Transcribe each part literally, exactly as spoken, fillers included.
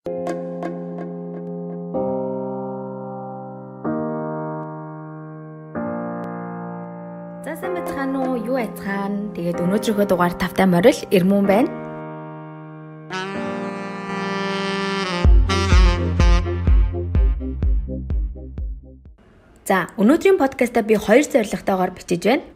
За сайн байцгаана уу? Юу айцгаана? Тэгээд өнөөдрийнхөө дугаар тавтай морил Ирмүн байна. За өнөөдрийн подкаста би хоёр зорилготойгоор бичиж байна.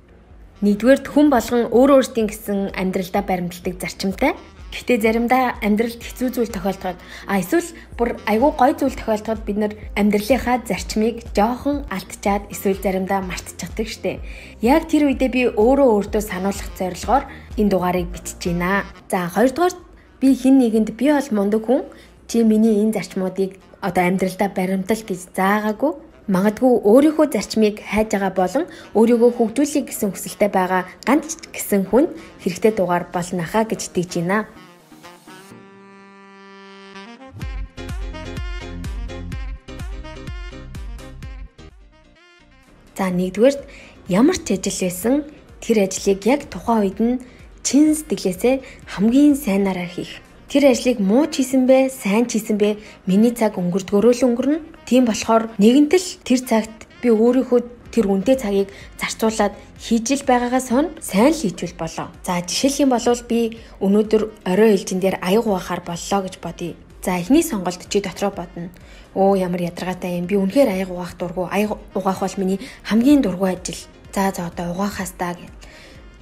Нэгдүгээр хүн болгон өөр өөрсдийн гэсэн амьдралдаа баримтлагдаг зарчимтай. Гэхдээ заримдаа амьдралд хэцүү зүйл тохиолдоход а эсвэл бүр айгүй гой зүйл тохиолдоход бид нар амьдралынхаа зарчмыг жоохон алдчихад эсвэл заримдаа мартчихдаг штеп. Яг тэр үедээ би өөрөө өөртөө сануулгах зорилгоор энэ дугаарыг бичиж байна. За хоёрдугаар би хэн нэгэнд би бол мундаг хүн чи миний энэ зарчмуудыг одоо амьдралдаа баримтал гэж заагаагүй. Магадгүй өөрийнхөө зарчмыг хайж байгаа болон өөрийгөө хөгжүүлэх гэсэн хүсэлтэй байгаа ганц гэсэн хүн хэрэгтэй дугаар болно хаа гэж итгэж байна. За нэгдүгээрт ямар ч ажил байсан тэр ажлыг яг тухайн үед нь чин сэтгэлээсээ хамгийн сайнаараа хийх. Тэр ажлыг муу ч хийсэн бэ, сайн ч хийсэн бэ, миний цаг өнгөрдгөрөө л өнгөрнө. Тийм болохоор нэгэнтэл тэр цагт би өөрийнхөө тэр үнэтэй цагийг зарцуулаад хийж ил байгаагаас хойно сайн л хийжүүл болоо. За жишээлх юм бол би өнөөдөр орой ээлжин дээр аяг угаахаар боллоо гэж бодъё. За эхний сонголт чи дотроо бодно. Оо ямар ядаргаатай юм. Би үнэхээр аяг угаах дургу. Аяг угаах бол миний хамгийн дургу ажил. За за одоо угаахаас таа гэх.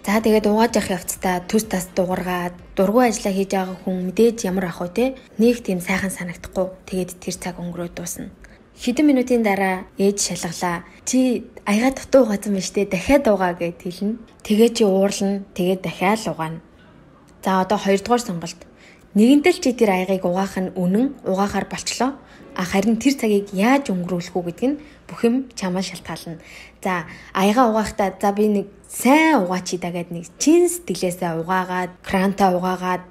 За тэгээд угааж явах явцдаа төс тас дуургаад дургу ажиллаа хийж байгаа хүн мэдээж ямар ах вэ те? Нэг тийм сайхан санагдахгүй. Тэгээд тэр цаг өнгөрөө дуусна. Хэдэн минутын дараа ээж шалгалаа. Чи аяга дутуу угаасан байна штэ. Дахиад угаа гэд хэлнэ. Тэгээ чи уурлна. Тэгээд дахиад угаана. За одоо хоёрдугаар сонголт. Нэгэнтэл чи тэр аягийг угаах нь үнэн угаахаар болчлоо. А харин тэр цагийг яаж өнгөрүүлэх үү гэдэг нь бүх юм чамаас шалтгаална. За аяга угаахдаа за би нэг сайн угаач идаа гэдэг нэг чин сэтгэлээсээ угаагаад, крантаа угаагаад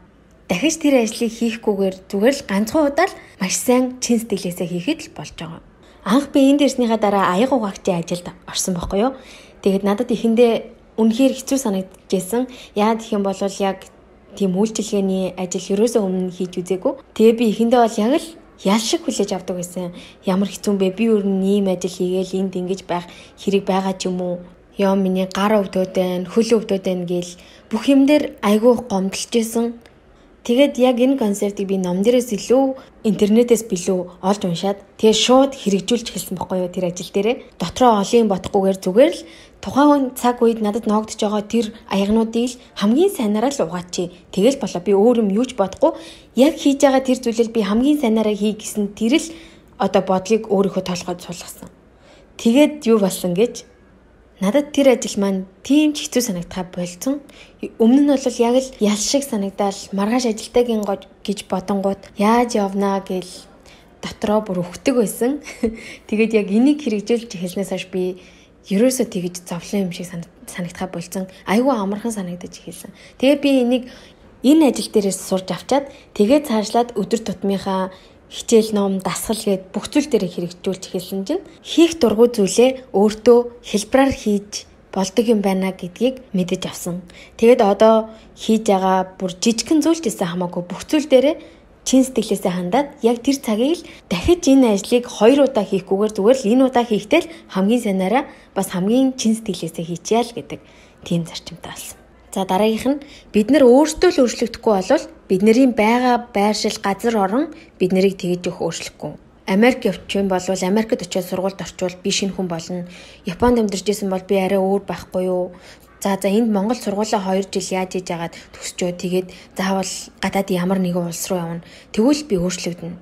дахиж тэр ажлыг хийхгүйгээр зүгээр л ганцхан удаа л маш сайн чин сэтгэлээсээ хийхэд л болж байгаа. Анх би энд ирснийхаа дараа аяга угаагчийн ажилд орсон байхгүй юу? Тэгээд надад ихэндээ үнэхээр хэцүү санагдчихсэн. Яа гэх юм бол яг тийм үйлчилгээний ажил ерөөсөө өмнө хийж үзээгүй. Тэгээ би ихэндээ бол яг л ял шиг хүлээж авдаг байсан. Ямар хэцүү бэ? Би өөр ийм ажил хийгээл энд ингэж байх хэрэг байгаа ч юм уу? Яа миний гар өвдөд байна, хөл өвдөд байна гэл бүх юм дээр айгүй гомдолж исэн. Тэгээд яг энэ концептыг би ном дээрээс илүү интернетээс билүү олж уншаад тэгээ шууд хэрэгжүүлж эхэлсэн байхгүй юу тэр ажил дээрээ. Дотроо олон бодохгүйгээр зүгээр л тухайн цаг үед надад ноогдож байгаа тэр аягнуудыг л хамгийн сайнаараа л угаачи. Тэгэл болоо би өөр юм юуч бодохгүй яг хийж байгаа тэр зүйлийг би хамгийн сайнаараа хий гэсэн тэр л одоо бодлыг өөрийнхөө толгойд суулгасан. Тэгээд юу болсон гэж надад тэр ажил маань тийм ч хэцүү санагдахаа болцсон. Өмнө нь бол яг л ял шиг санагдаал маргааш ажилтайгийн гож гэж бодонгууд яаж явнаа гэл дотроо бүр өвхдөг байсан. Тэгээд яг энийг хэрэгжүүлж эхэлснээс хойш би ерөөсөө тэгж зовлон юм шиг санагдахаа болцсон. Айгүй амархан санагдаж эхэлсэн. Тэгээд би энийг энэ ажил дээрээс сурж авчаад тэгээд цаашлаад өдөр тутмынхаа хичээл ном, дасгал гээд бүх зүйл дээр хэрэгжүүлж эхэлсэн чинь хийх дургуй зүйлээ өөртөө хэлбэраар хийж болдог юм байна гэдгийг мэдэж авсан. Тэгээд одоо хийж байгаа бүр жижигхэн зүйл ч гэсэн хамаагүй бүх зүйл дээр чин сэтгэлээсээ хандаад яг тэр цагийг л дахиж энэ ажлыг хоёр удаа хийхгүйгээр зүгээр л энэ удаа хийхдээ л хамгийн сайнаараа бас хамгийн чин сэтгэлээсээ хийчихъя л гэдэг тийм зарчимтай болсон. За дараагийнх нь бид нар өөрсдөө л өөрчлөгдөхгүй болвол бидний байгаа байршил газар орон бид нарыг тэгж өгөх өөрчлөхгүй. Америк явчихсан бол Америкт очиод сургуульд орчвол би шинэ хүн болно. Японд амьдарч исэн бол би арай өөр байхгүй юу? За за энд Монгол сургуулаа хоёр жил яаж хийж агаад төгсчөө тэгээд заавал гадаад ямар нэгэн улс руу явна. Тэгвэл би өөрчлөгдөнө.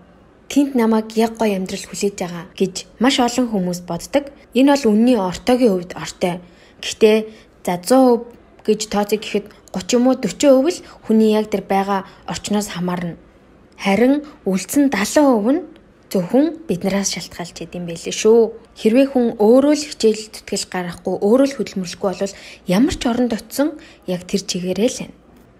Тэнд намайг яг гоё амьдрал хүлээж байгаа гэж маш олон хүмүүс боддог. Энэ бол үнний ортоогийн хувьд ортой. Гэхдээ за сто хувь гэж тооцоо гэхэд гучин юм уу дөрвөн хувь л хүний яг тэр байгаа орчноос хамаарна. Харин үлдсэн далайн хувь нь зөвхөн биднээс шалтгаалж идэм байлээ шүү. Хэрвээ хүн өөрөө л хичээл зүтгэл гаргахгүй, өөрөө л хөдөлмөрлөхгүй бол ямар ч оронд очисон яг тэр чигээрээ л байна.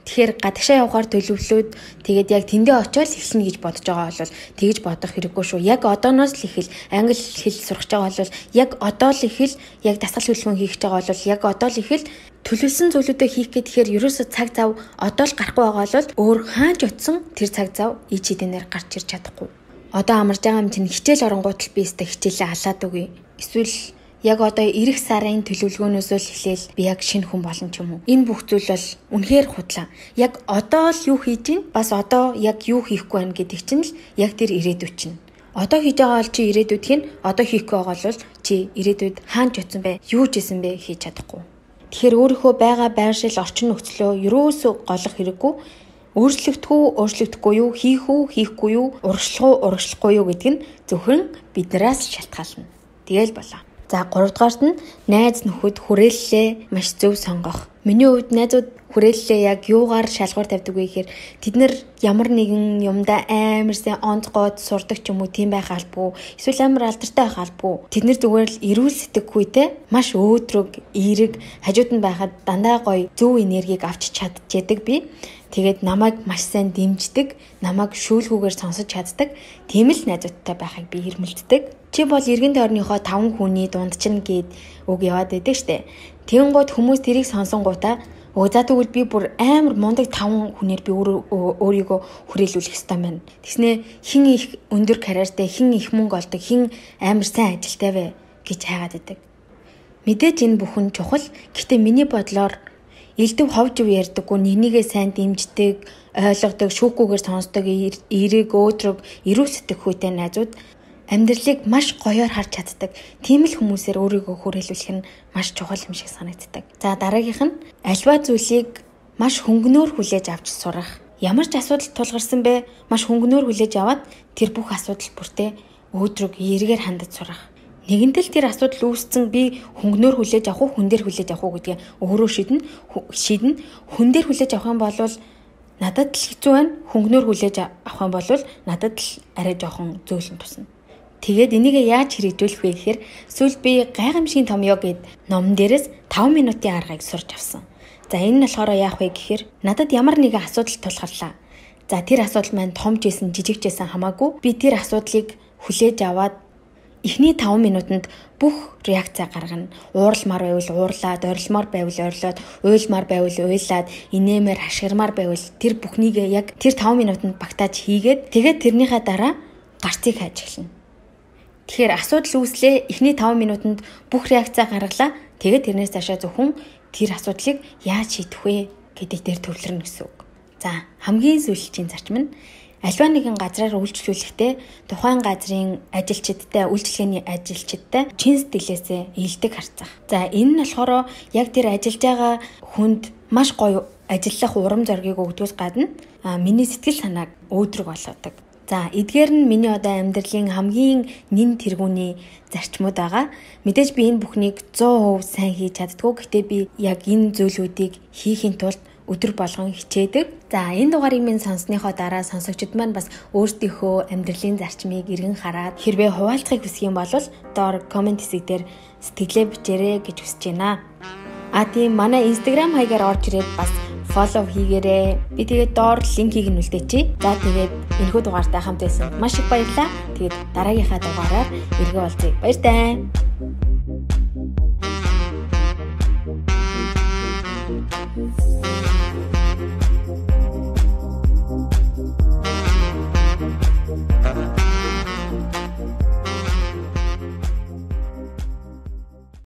Тэгэхээр гадагшаа явахаар төлөвлөөд тэгээд яг тэндээ очиод эхэлнэ гэж бодож байгаа бол тэгж бодох хэрэггүй шүү. Яг одооноос л ихэл англи хэл сурах гэж байгаа бол яг одоо л ихэл яг дасгал хөдөлгөөн хийх гэж байгаа бол яг одоо л ихэл төлөвлөсөн зүйлүүдээ хийх гэхээр ерөөсөө цаг зав одоо л гарахгүй байгаа бол өөр хааж утсан тэр цаг зав ич хэдэнээр гарч ирж чадахгүй. Одоо амарж байгаа юм чинь хичээл оронгууд л би өстө хичээлээ халаад үгүй. Эсвэл яг одоо эх сарын төлөвлөгөөнөөс л эхлээл би яг шинэ хүн болно ч юм уу. Энэ бүх зүйл бол үнэхээр худлаа. Яг одоо л юу хийж гин бас одоо яг юу хийхгүй байна гэдэг чинь л яг тэр ирээдүйд чинь. Одоо хийж байгаа бол чи ирээдүйд хийн, одоо хийхгүй байгаа бол чи ирээдүйд хаанч утсан бэ, юу ч хийсэн бэ хийж чадахгүй. Тэгэхээр өөрийнхөө байгаа байршил орчин нөхцлөө ерөөсөө голох хэрэггүй. Өөрчлөгдөх үү, өөрчлөгдөхгүй юу, хийх үү, хийхгүй юу, урагшлах уу, урагшлахгүй юу гэдэг нь зөвхөн биднээс шалтгаална. Тэгэл болоо. За гурав дахь нь найз нөхөд хүрээллээ маш зөв сонгох. Миний хувьд найзууд хүрээллээ яг юугаар шалгуур тавьдаг вэ гэхээр тэд нар ямар нэгэн юмдаа амар сайн онцгойд сурдаг ч юм уу тийм байх албагүй. Эсвэл амар алдартай байх албагүй. Тэд нар зүгээр л эрүүл сэтгэхүйтэй маш өөдрөг, эерэг хажууд нь байхад дандаа гоё зөв энергийг авч чадчихэдэг би. Тэгээд намайг маш сайн дэмждэг, намайг шүүлгүүгээр сонсож чаддаг тийм л найзуудтай байхыг би эрмэлддэг. Чи бол эргэн тойрныхоо таван хүний дунд чинь гээд үг яваад байдаг штэ. Тэнгууд хүмүүс тэрийг сонсонгуудаа өө за тэгвэл би бүр амар мундаг таван хүнээр би өөрийгөө хүрээлүүлэх ёстой байна. Тэснэ хин их өндөр карьертай, хин их мөнгө олдог, хин амар сайн ажилтай вэ гэж хайгаад байдаг. Мэдээж энэ бүхэн чухал. Гэхдээ миний бодлоор элдв ховж үе ярьдаггүй, нэгнийгээ сайн дэмждэг, ойлгодог, шүүхгүйгээр сонсдог, эерэг, өөдрөг, эрүүл сэтгэхүйтэй найзууд амьдралыг маш гоёор харж чаддаг. Тийм л хүмүүсээр өөрийгөө хүрээлүүлэх нь маш чухал юм шиг санагддаг. За дараагийнх нь альва зүйлийг маш хөнгөнөөр хүлээж авч сурах. Ямар ч асуудал тулгарсан бэ, маш хөнгөнөөр хүлээж аваад тэр бүх асуудал бүртээ өөдрөг, эергээр хандаж сурах. Нэгэнтэл тэр асуудал үүссэн би хөнгөнөөр хүлээж авах уу, хүн дээр хүлээж авах уу гэдгийг өөрөө шийднэ. Шийднэ. Хүн дээр хүлээж авах юм бол надад л хэцүү байна. Хөнгөнөөр хүлээж авах юм бол надад л арай жоохон зөөлөн тусна. Тэгээд энийг яаж хэрэгжүүлэх вэ гэхээр сүүл би гайхамшигын том ёг гэд номон дээрээс таван минутын аргыг сурч авсан. За энэ нь болохоор яах вэ гэхээр надад ямар нэгэн асуудал тулгарлаа. За тэр асуудал маань том ч байсан, жижиг ч байсан хамаагүй би тэр асуудлыг хүлээж аваад эхний таван минутанд бүх реакцаа гаргана. Ууралмаар байвал уурлаад, орилмоор байвал орилоод, уйлмаар байвал уйлаад, инээмээр хашгирмаар байвал тэр бүхнийг яг тэр таван минутанд багтааж хийгээд тэгээд тэрнийхээ дараа гарцыг хайж эхэлнэ. Тэгэхээр асуудал үүслээ, эхний таван минутанд бүх реакцаа гаргалаа. Тэгээд тэрнээс цаашаа зөвхөн тэр асуудлыг яаж шийдэх вэ гэдэг дээр төвлөрнө гэсэн үг. За хамгийн сүүлчийн зарчим нь альва нэгэн газраар үйлчлүүлэхдээ тухайн газрын ажилчидтай, үйлчлэгээний ажилчидтай чин сэтгэлээсээ ийдэг харцах. За энэ нь болохоор яг тэр ажиллаж байгаа хүнд маш гоё ажиллах урам зориг өгдөгөөс гадна миний сэтгэл санааг өөдрөг болгодог. За эдгээр нь миний одоо амьдралын хамгийн нэн тэргүүний зарчмууд байгаа. Мэдээж би энэ бүхнийг сто процент сайн хийж чаддгүй. Гэхдээ би яг энэ зүйлүүдийг хийхин тулд өдөр болгон хичээдэг. За энэ дугаарыг минь сонссныхоо дараа сонсогчид маань бас өөрсдийнхөө амьдралын зарчмыг эргэн хараад хэрвээ хуваалцахыг хүсэх юм бол доор комент хэсэг дээр сэтгэлээ бичээрэй гэж хүсэж байна. А тийм манай Instagram хаягаар орж ирээд бас follow хийгээрэй. Би тэгээд доор линкийг нь үлдээчи. За тэгээд энэхүү дугаартай хамт байсан маш их баярлалаа. Тэгээд дараагийнхаа дугаараар эргэн уулзъя. Баяртай. Thank you.